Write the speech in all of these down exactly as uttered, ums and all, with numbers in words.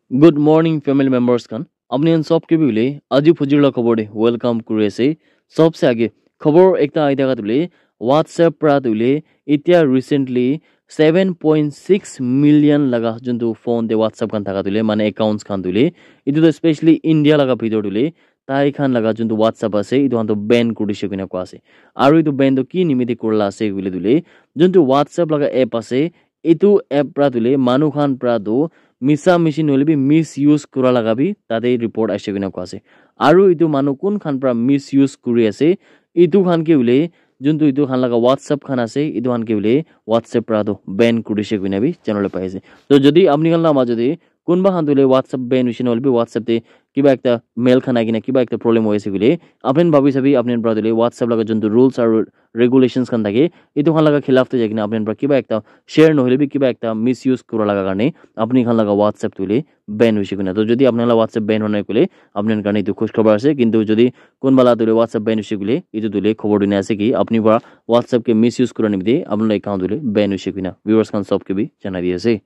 Good morning, family members khan. Apni khan sob ke bhi hoile aji phujir la khobor te welcome kuri ase. Sobse age khobor ekta ahi thaka tu hoile WhatsApp pra tu hoile itya recently seven point six million laga juntu phone te WhatsApp khan thaka tu hoile mane accounts khan tu hoile itu tu specially India laga bhitor tu hoile tai khan laga juntu WhatsApp ase itu khan tu ban kuri dishe koina koa ase. Aru itu ban tu ki nimite kurila ase koile tu hoile juntu WhatsApp laga app ase itu app pra tu hoile manu khan pra tu misa mishi nohoile bi misuse kura laga bi tate report aise koina koa ase. Aru itu manu kun khan pra misuse kuri ase itu khan ke hoile juntu itu khan laga WhatsApp khan ase itu khan ke hoile WhatsApp pra tu ban kuri dishe koina bi janabole pai ase. To jodi apni khan la majo te kunba khan tu hoile WhatsApp ban hoise nohoile bi WhatsApp te kiba ekta mail khan ahi kena kiba ekta problem hoi ase koile apni khan bhabi sabi apni khan pra tu hoile WhatsApp laga juntu rules aru regulations khan thake itu khan laga khilaf te jai kena apni khan pra kiba ekta share nohoile bi kiba ekta misuse kura laga karne apni khan laga WhatsApp tu hoile ban hoise koina. To jodi apni khan la WhatsApp ban hoi nai koile apni khan karne itu khush khobor ase, kintu jodi kunba la tu hoile WhatsApp ban hoise koile itu tu hoile khobor dina ase ki apni pra WhatsApp ke misuse kura nimite apni la account tu hoile ban hoise koina. Viewers khan sob ke bi janai di ase.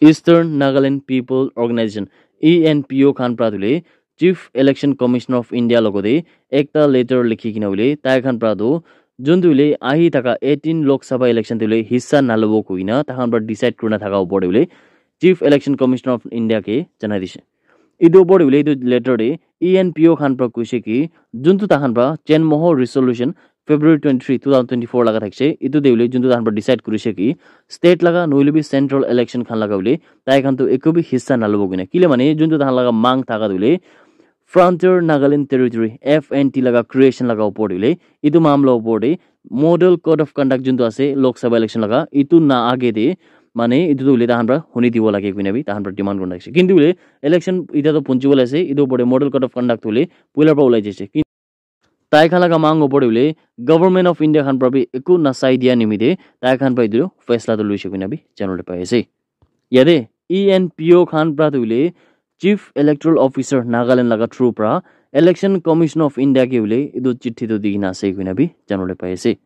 Eastern Nagaland People Organization, E N P O khan pra tu hoile Chief Election Commissioner of India logote ekta letter likhi kena hoile tai khan pra tu juntu hoile ahi thaka eighteen Lok Sabha election tu hoile hissa nalobo koina tai khan pra decide kurina thaka opor te hoile Chief Election Commissioner of India ke janai dishe. Itu opor te hoile itu letter te E N P O khan pra koise ki juntu tai khan pra Chenmoho resolution February twenty-three, two thousand twenty-four laga thakise. Itu te hoile juntu tai khan pra decide kurise ki state laga nohoile bi central election khan laga hoile tai khan tu eku bi hissa nalobo koina. Kile mane juntu tai khan laga mang thaka tu hoile Frontier Nagaland Territory, F N T laga creation laga opor te hoile itu mamla opor te model code of conduct juntu ase Lok Sabha election laga itu na age te mane itu tu hoile tai khan pra huni dibo lage koina bi tai khan pra demand kurina thakise. Kintu hoile election ita to punchibo le ase itu opor te model code of conduct hoile puila pra ulai jaise. Tai khan laga mang opor te hoile Government of India khan pra bi eku nasai dia nimite tai khan pra itu faisla tu luise koina bi janabole pai ase. Yate E N P O khan pra tu hoile Chief Electoral Officer Nagaland laga through pra Election Commission of India ke hoile itu chithi tu di kena ase koina bi janabole pai ase.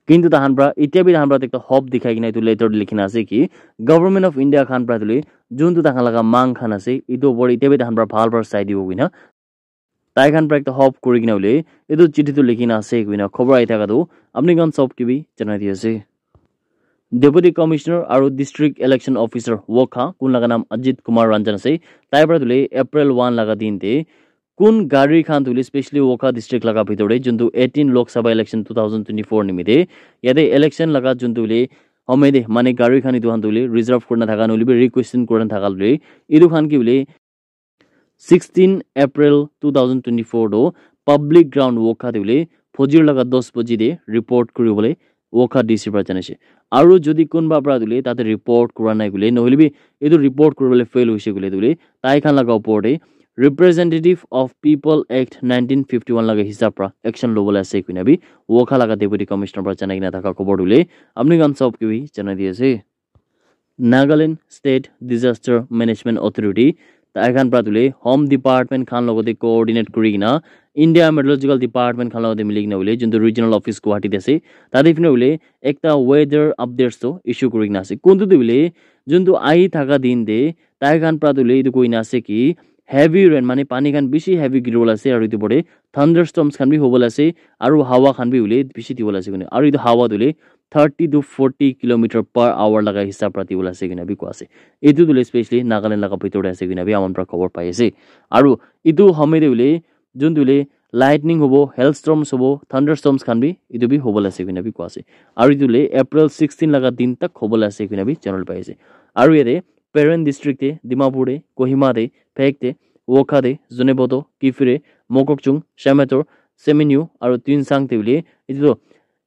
Kintu tai khan pra itya bi tai khan pra ekta hope dikhai kena itu letter te likhina ase ki Government of India khan pra tu hoile juntu tai khan laga mang khan ase itu opor itya bi tai khan pra bhal pra sai dibo koina tai khan pra ekta hope kuri kena hoile itu chithi tu likhina ase koina khobor ahi thaka tu apni khan sob ke bi janai di ase. Deputy Commissioner aru District Election Officer Wokha kun laga naam Ajit Kumar Ranjan ase tai pra tu hoile April one laga din te kun gari khan tu hoile specially Wokha district laga bhitor te juntu eighteen Lok Sabha election two thousand twenty-four nimite yate election laga juntu hoile homoi te mane gari khan itu khan tu hoile reserve kurina thaka nohoile bi requisition kurina thaka hoile itu khan ke hoile sixteen April two thousand twenty-four to public ground Wokha te hoile phojir laga dos baji te report kuribole Wokha D C pra janise. Aru jodi kunba pra tu hoile tate report kura nai koile nohoile bi itu report kuribole fail hoise koile tu hoile tai khan laga opor te Representative of People Act nineteen fifty-one laga hisab pra action lobole ase koina bi Wokha laga Deputy Commissioner pra janai kena thaka khobor tu hoile apni khan sob ke bi janai di ase. Nagaland State Disaster Management Authority tai khan pra tu hoile Home Department khan logote coordinate kuri kena India Meteorological Department khan logote mili kena hoile juntu regional office Guwahati te ase tate phine hoile ekta weather updates to issue kuri kena ase kuntu tu hoile juntu ahi thaka din te tai khan pra tu hoile itu koina ase ki heavy rain mane pani khan bishi heavy giribola ase aru itu pore thunderstorms khan bi hobola ase aru hawa khan bi hoile bishi dibola ase koina aru itu hawa tu hoile thirty to forty kilometer per hour laga hisab pra dibola ase koina bi koa ase. Itu tu hoile specially Nagaland laga bhitor te ase koina bi aman pra khobor pai ase aru itu homoi te hoile juntu hoile lightning hobo, hailstorms hobo, thunderstorms khan bi itu bi hobola ase koina bi koa ase aru itu hoile April sixteen laga din tak hobola ase koina bi janabole pai ase aru yate Peren district te, Dimapur te, Kohima te, Phek te, Wokha te, Zunheboto, Kiphire, Mokokchung, Shamator, Seminyu aru Tuensang te hoile itu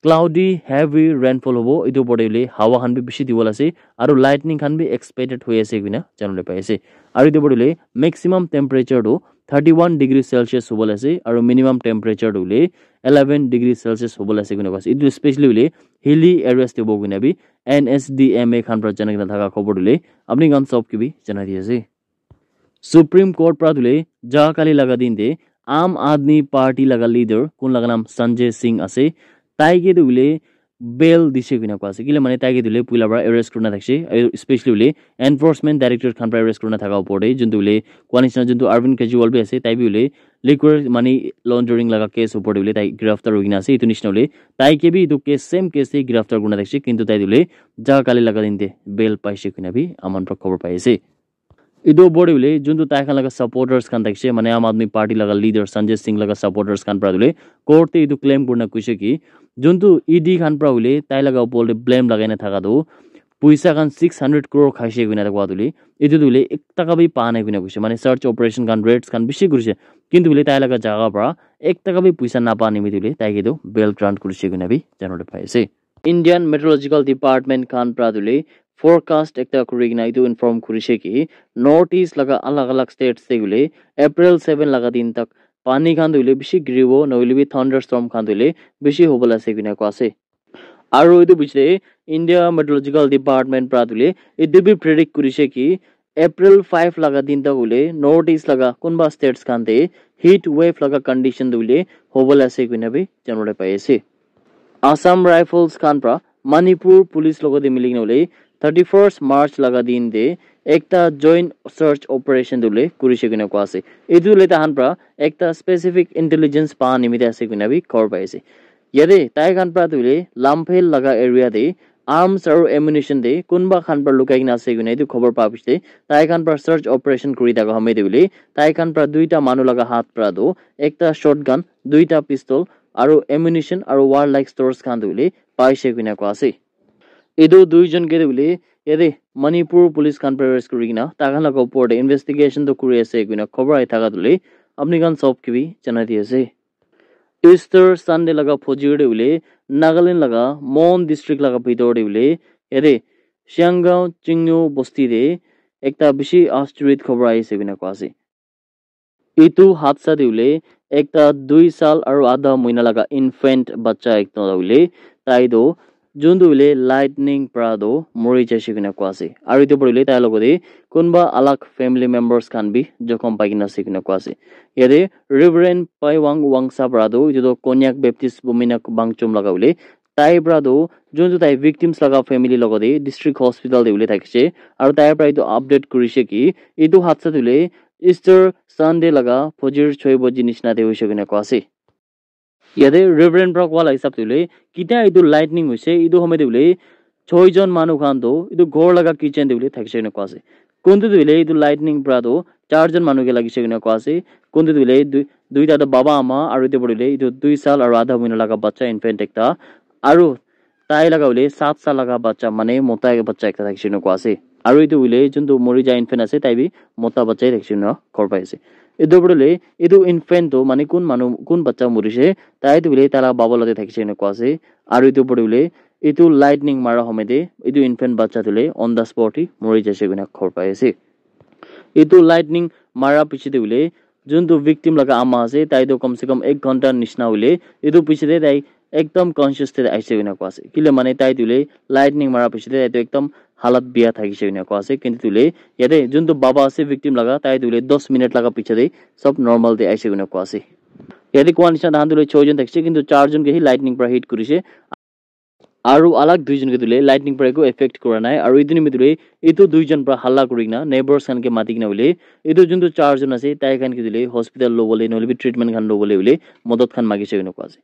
cloudy heavy rainfall hobo itu opor te hoile hawa khan bi bishi dibola ase aru lightning khan bi expected hoi ase koina janabole pai ase aru itu opor te hoile maximum temperature tu thirty one degree Celsius hobola ase aru minimum temperature tu hoile eleven degree Celsius hobola ase koina koa ase itu specially hoile hilly areas te hobo koina bi N S D M A khan pra janai kena thaka khobor tu hoile apni khan sob ke bi janai di ase. Supreme Court pra tu hoile ja kali laga din te Aam Aadmi Party laga leader kun laga naam Sanjay Singh ase tai ke tu hoile bail dise koina koa ase. Kile mane tai ke tu hoile puila para arrest kurina thakishe, aru especially hoile enforcement director khan para arrest kurina thaka opor te, juntu hoile koa nishina juntu Arvind Kejriwal bi ase, tai bi hoile liquor money laundering laga case opor te hoile tai giraftar hoikena ase. Etu nishina hoile tai ke bi etu case, same case te giraftar kurina thakishe, kintu tai tu hoile ja kali laga din te bail paishe koina bi aman para khobor pai ase. Etu opor te hoile juntu tai khan laga supporters khan thakishe, mane Aam Aadmi Party laga leader Sanjay Singh laga supporters khan para hoile court te etu claim kurina koishe ki juntu E D khan para hoile tai laga opor te blame lagai na thaka tu puisa khan six hundred crore khaishe koina koa tu hoile etu tu hoile ek taka bi pa nai koina koishe, mane search operation khan, raids khan bishi kurishe, kintu hoile tai laga jaga para ek taka bi puisa napa nimite hoile tai ke tu bail grant kurishe koina bi janabole pai ase. Indian Meteorological Department khan para tu hoile forecast ekta kuri kena etu inform kurishe ki North East laga alag alag states te hoile April seven laga din tak pani khan tu hoile bishi giribo, nohoile bi thunderstorm khan tu hoile bishi hobole ase koina koa ase. Aru etu piche te India Meteorological Department para tu hoile etu bi predict kurishe ki April five laga din tak hoile North East laga kunba states khan te heat wave laga condition tu hoile hobole ase koina bi janabole pai ase. Assam Rifles khan para Manipur Police logote mili kena hoile thirty-first March laga din te ekta joint search operation tu hoile kurishe koina koa ase. Etu hoile tahan para ekta specific intelligence pa nimite ase koina bi khobor pai ase. Yate tai khan para tu hoile Lamphel laga area te arms aru ammunition te kunba khan para lukai kena ase koina etu khobor pa piche te tai khan para search operation kuri thaka homoy te hoile tai khan para duita manu laga hath para tu ekta shotgun, duita pistol aru ammunition aru warlike stores khan tu hoile paishe koina koa ase. Etu duijon ke tu hoile yate Manipur Police khan para arrest kuri kena tai khan laga opor te investigation tu kuri ase koina khobor ahi thaka tu hoile apni khan sob ke bi janai di ase. Easter Sunday laga phojir te hoile Nagaland laga Mon district laga bhitor te hoile yate Sianggaon Chingno bosti te ekta bishi astorit khobor ahi ase koina koa ase. Etu hadsa te hoile ekta dui sal aru adha mohina laga infant bacha ekta hoile tai tu juntu hoile lightning para tu mori jaise koina koa ase. Aru etu para hoile tai logote kunba alag family members khan bi jokhom pai kena ase koina koa ase. Yate Reverend Paiwang Wangsa para tu etu tu Konyak Baptist Bumina Bangchom laga hoile tai para tu juntu tai victims laga family logote district hospital te hoile thakishe aru tai para etu update kurishe ki etu hadsa tu hoile Easter Sunday laga phojir choi baji nishina te hoise koina koa ase. Yate Reverend para koa la hisab te hoile kitia etu lightning hoise etu homoy te hoile choi jon manu khan tu etu ghor laga kitchen te hoile thakishe koina koa ase. Kuntu tu hoile etu lightning para tu char jon manu ke lagishe koina koa ase. Kuntu tu hoile dui duita tu baba ama aru etu para hoile etu dui sal aru adha mohina laga bacha infant ekta aru tai laga hoile sat sal laga bacha mane mota bacha ekta thakishe koina koa ase. Aru etu hoile juntu mori ja infant ase tai bi mota bacha thakishe koina khobor pai ase. Etu para hoile etu infant tu mane kun manu kun bacha morise tai tu hoile tai laga baba logote thakishe koina koa ase. Aru etu para hoile etu lightning mara homoy te etu infant bacha tu hoile on the spot te mori jaise koina khobor pai ase. Etu lightning mara piche te hoile juntu victim laga ama ase tai tu kam se kam ek ghonta nishina hoile etu piche te tai ekdam conscious te aise koina koa ase. Kile mane tai tu hoile lightning mara piche te tai tu ekdam halat bia thakishe koina koa ase. Kintu tu hoile yate juntu baba ase victim laga tai tu hoile dos minute laga piche te sob normal te aise koina koa ase. Yate koa nishina tahan tu hoile choi jon thakishe kintu char jon ke hi lightning para hit kurishe. Aru alag duijon ke tu hoile lightning para eku effect kura nai. Aru etu nimite tu hoile etu duijon para halla kuri kena neighbors khan ke mati kena hoile etu juntu char jon ase tai khan ke tu hoile hospital lobole nohoile bi treatment khan lobole hoile modot khan magishe koina koa ase.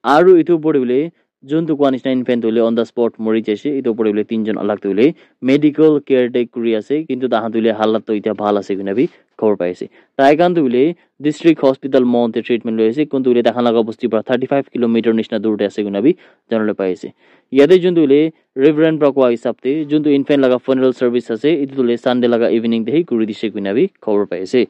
Aru etu opor te hoile juntu koa nishina infant tu hoile on the spot mori jaise. Etu opor te hoile tinjon alag tu hoile medical care te kuri ase kintu tahan tu hoile halat tu etia bhal ase koina bi khobor pai ase. Tai khan tu hoile district hospital Mon te treatment loi ase. Kuntu hoile tai khan laga bosti para thirty five kilometer nishina dur te ase koina bi janabole pai ase. Yate juntu hoile Reverend para koa hisab te juntu infant laga funeral service ase etu tu hoile Sunday laga evening te hi kuri dishe koina bi khobor pai ase.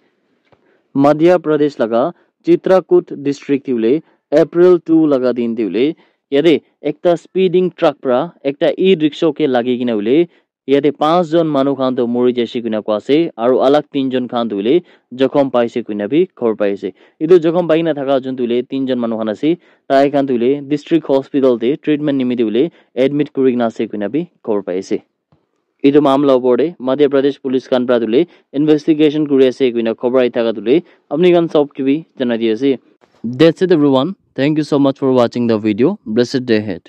Madhya Pradesh laga Chitrakoot district te hoile April two laga din te hoile yate ekta speeding truck para ekta e-rickshaw ke lagi kena hoile yate panch jon manu khan tu mori jaise koina koa ase aru alag tinjon khan tu hoile jokhom paise koina bi khobor pai ase. Etu jokhom pai kena thaka juntu hoile tinjon manu khan ase tai khan tu hoile district hospital te treatment nimite hoile admit kuri kena ase koina bi khobor pai ase. Etu mamla opor te Madhya Pradesh police khan para tu hoile investigation kuri ase koina khobor ahi thaka tu hoile apni khan sob ke bi janai di ase. That's it everyone. Thank you so much for watching the video. Blessed day ahead.